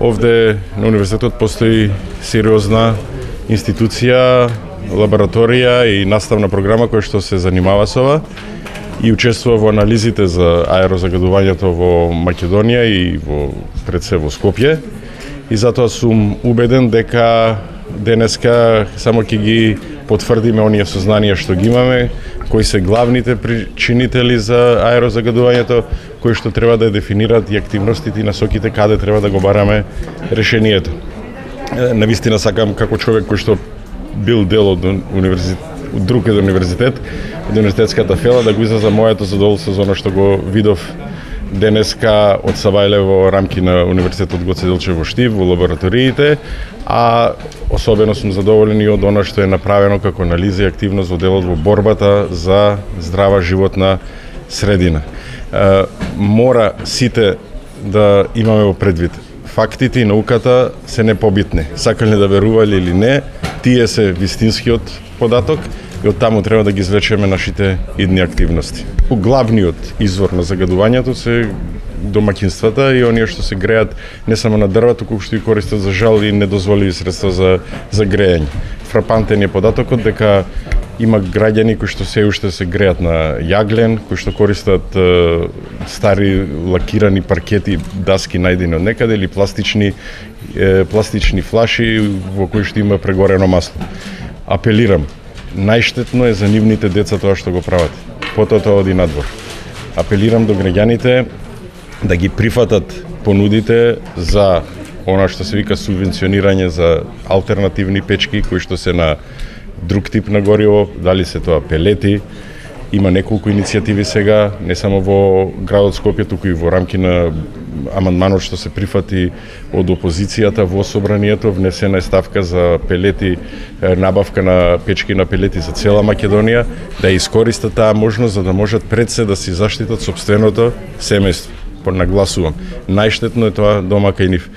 Овде на универзитетот постои сериозна институција, лабораторија и наставна програма која што се занимава со ова и учествува во анализите за аерозагадувањето во Македонија и пред се во Скопје. И затоа сум убеден дека денеска само ќе ги потврдиме оние сознанија што ги имаме, кои се главните причинители за аерозагадувањето, кои што треба да дефинираат и активностите и насоките каде треба да го бараме решението. Навистина сакам како човек кој што бил дел од друг универзитет, од универзитетската фела, да го изразам моето задоволство за оно што го видов денеска од Сабајле во рамки на Универзитетот Гоце Делчев во Штип, во лабораториите, а особено сум задоволен и од оно што е направено како анализа и активност во делот во борбата за здрава животна средина. Мора сите да имаме во предвид. Фактите и науката се непобитни. Сакале да верувале или не, тие се вистинскиот податок и од таму треба да ги извлечеме нашите идни активности. Главниот извор на загадувањето се домаќинствата и оние што се греат не само на дрва, туку што и користат за жал и недозволиви средства за грејање. Фрапантен е податокот дека има граѓани кои што се уште се греат на јаглен, кои што користат стари лакирани паркети, даски најдени од некаде или пластични флаши во кои што има прегорено масло. Апелирам, најштетно е за нивните деца тоа што го прават. Потоа тоа оди надвор. Апелирам до граѓаните да ги прифатат понудите за она што се вика субвенционирање за алтернативни печки кои што се на друг тип на гориво, дали се тоа пелети. Има неколку иницијативи сега, не само во градот Скопје, туку и во рамки на амандманот што се прифати од опозицијата во собранието, внесена е ставка за пелети, набавка на печки на пелети за цела Македонија, да искористат таа можност за да можат пред се да си заштитат сопственото семејство. Нагласувам, најштетно е тоа дома кај нив.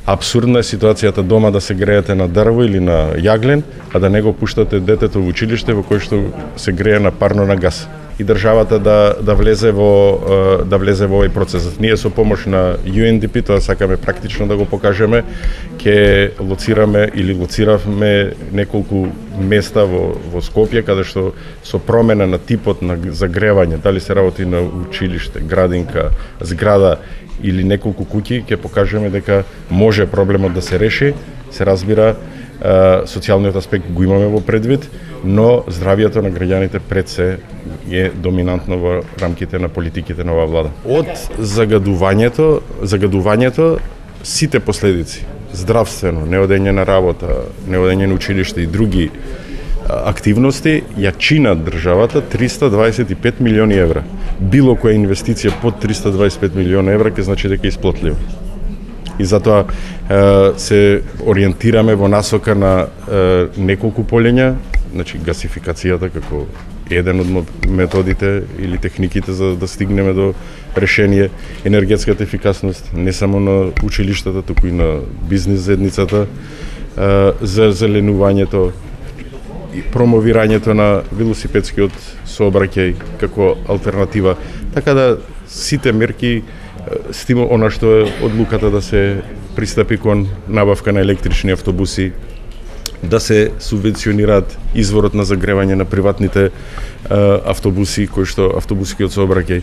Апсурдна е ситуацијата дома да се греете на дрво или на јаглен, а да не го пуштате детето во училиште во кој што се грее на парно на газ. И државата да влезе во овој процес. Ние со помош на UNDP, тоа сакаме практично да го покажеме, ќе лоциравме неколку места во Скопје каде што со промена на типот на загревање, дали се работи на училиште, градинка, зграда или неколку куќи, ќе покажеме дека може проблемот да се реши. Се разбира, социјалниот аспект го имаме во предвид, но здравието на граѓаните пред се е доминантно во рамките на политиките на оваа влада. Од загадувањето сите последици, здравствено, неодење на работа, неодење на училиште и други активности, ја чина државата 325 милиони евра. Било која инвестиција под 325 милиони евра ќе значи дека е исплатливо. И затоа се ориентираме во насока на неколку полења, значи гасификацијата како еден од методите или техниките за да стигнеме до решение, енергетската ефикасност не само на училиштата, туку и на бизнис заедницата, за зеленувањето и промовирањето на велосипедскиот сообраќај како алтернатива. Така да сите мерки она што е одлуката да се пристапи кон набавка на електрични автобуси, да се субвенционираат изворот на загревање на приватните автобуси, кои што автобускиот сообраќај,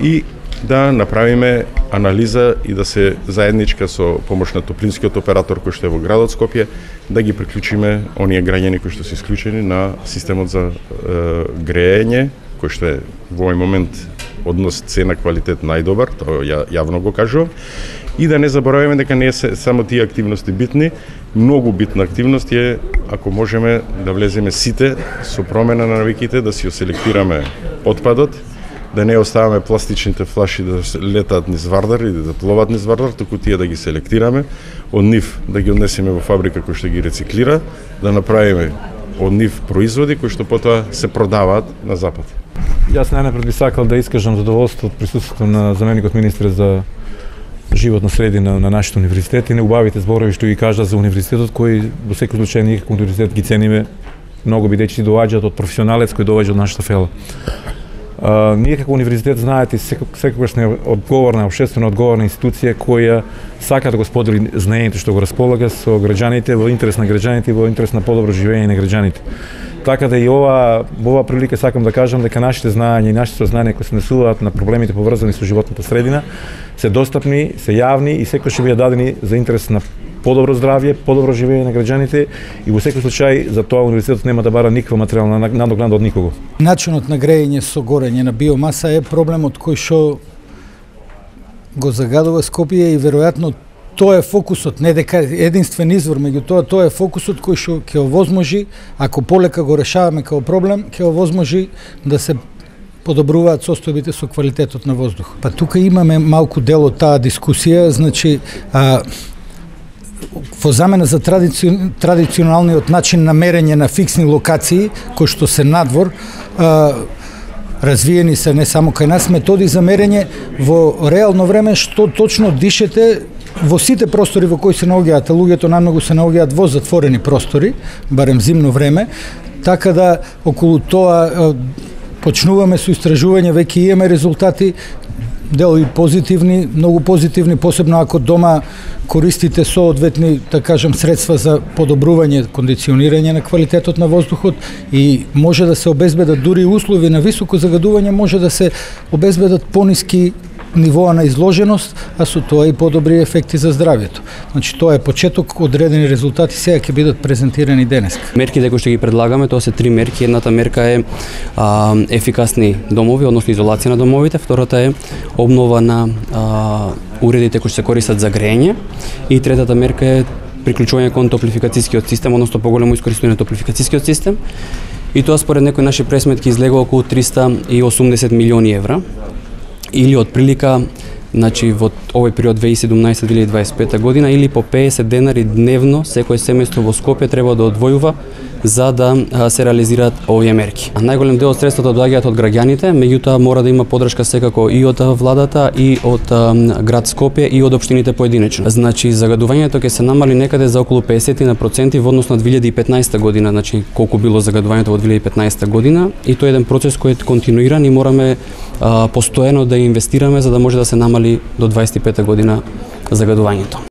и да направиме анализа и да се заедничка со помош на топлинскиот оператор кој што е во градот Скопје, да ги приклучиме оние граѓани кои што се исклучени на системот за греење, кој што е во овој момент однос цена квалитет најдобар, тоа јавно го кажувам, и да не забораваме дека не е само тие активности битни. Многу битна активност е ако можеме да влеземе сите со промена на навиките, да си оселектираме отпадот, да не оставаме пластичните флаши да летаат низ Вардар или да пловат низ Вардар, туку тие да ги селектираме, од нив да ги однесеме во фабрика кој што ги рециклира, да направиме од нив производи кои што потоа се продаваат на запад. Јас најнапред би сакал да искажам задоволство од присуството на заменикот министр за животна средина на нашите универзитети, неубавите зборови што ги кажа за универзитетот, кој во секој случај ние како универзитет ги цениме многу, бидејќи доаѓаат од професионалец кој доаѓа од нашата фела. Ние како универзитет, знаете, секогаш сме одговорна, општествено одговорна институција која сака да го сподели знаењето што го располага со граѓаните во интерес на граѓаните и во интерес на подобро живење на граѓаните. Така да и во ова прилика сакам да кажам дека нашите знаења и нашите знания кои се однесуваат на проблемите поврзани со животната средина се достапни, се јавни и секој ќе бидат дадени за интерес на подобро здравје, подобро живење на граѓаните и во секој случај за тоа универзитетот нема да бара никаква материјална надокнада од никого. Начинот на грејење со горење на биомаса е проблемот кој што го загадува Скопје и веројатно тоа е фокусот, не дека единствен извор, меѓутоа тоа е фокусот кој што ќе овозможи, ако полека го решаваме како проблем, ќе овозможи да се подобруваат состојбите со квалитетот на воздух. Па тука имаме малку дел од таа дискусија, значи во замена за традиционалниот начин на мерење на фиксни локации, кои што се надвор, развиени се не само кај нас методи за мерење во реално време што точно дишете во сите простори во кои се наоѓаат, луѓето најмногу се наоѓаат во затворени простори, барем зимно време, така да околу тоа почнуваме со истражување, веќе имаме резултати, дел и позитивни, многу позитивни, посебно ако дома користите соодветни, да кажам, средства за подобрување, кондиционирање на квалитетот на воздухот и може да се обезбедат дури услови на високо загадување, може да се обезбедат пониски нивоа на изложеност, а со тоа и подобри ефекти за здравјето. Значи тоа е почеток, одредени резултати сега ќе бидат презентирани денеска. Мерките кои што ги предлагаме, тоа се 3 мерки. Едната мерка е ефикасни домови, односно изолација на домовите, втората е обнова на уредите кои се користат за грејење и третата мерка е приклучување кон топлификацијскиот систем, односно поголемо искористување на топлификацијскиот систем. И тоа според некои наши пресметки излегува околу 380 милиони евра. Или од прилика, значи во овој период 2017-2025 година, или по 50 денари дневно секој семејство во Скопје треба да одвојува за да се реализираат овие мерки. Најголем дел од средствата доаѓаат од граѓаните, меѓутоа мора да има поддршка секако и од владата, и од град Скопје, и од општините поединечно. Значи загадувањето ќе се намали некаде за околу 50% во однос на 2015 година, значи колку било загадувањето во 2015 година, и тоа е еден процес кој е континуиран и мораме постојано да инвестираме за да може да се намали до 25 година загадувањето.